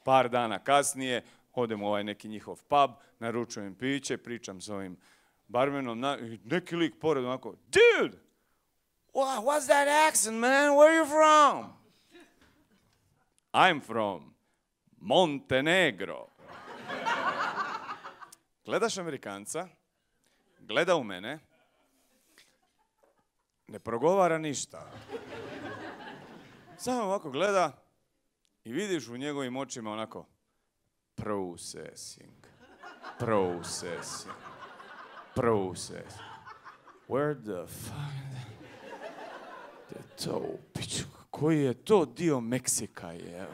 Par dana kasnije odem u ovaj neki njihov pub, naručujem piće, pričam s ovim barmenom, neki lik pored onako, dude, what's that accent, man? Where are you from? I'm from Montenegro. Gledaš Amerikanca, gleda u mene, ne progovara ništa. Samo ovako gleda i vidiš u njegovim očima onako processing. Where the fuck? Koji je to dio Meksika je?